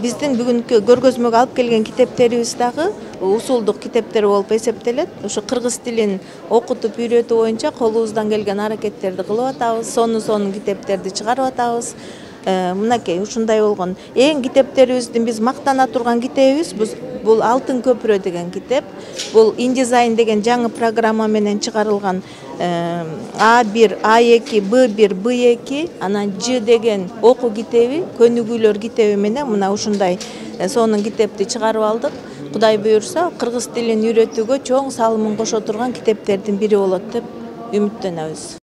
Биздин бүгүнкү көргөзмөгө алып келген китептерибиз дагы усулдук китептер болуп эсептелет. Ошо кыргыз тилин окутуп үйрөтүү боюнча колубуздан келген аракеттерди кылып атабыз. Сонун китептерди чыгарып атабыз. Мынакей ушундай болгон. Эң китептерибиздин биз мактана турган китебибиз бул Алтын көпүрө деген китеп. Бул InDesign деген жаңы программа менен чыгарылган A1, A2, B1, B2, анан Ж деген окуу китеби, көнүгүүлөр китеби менен мына ушундай сонун китепти чыгарып алдык. Кудай буюрса, кыргыз тилин үйрөтүүгө чоң салымын кошо турган китептердин бири болот деп үмүттөнөбүз.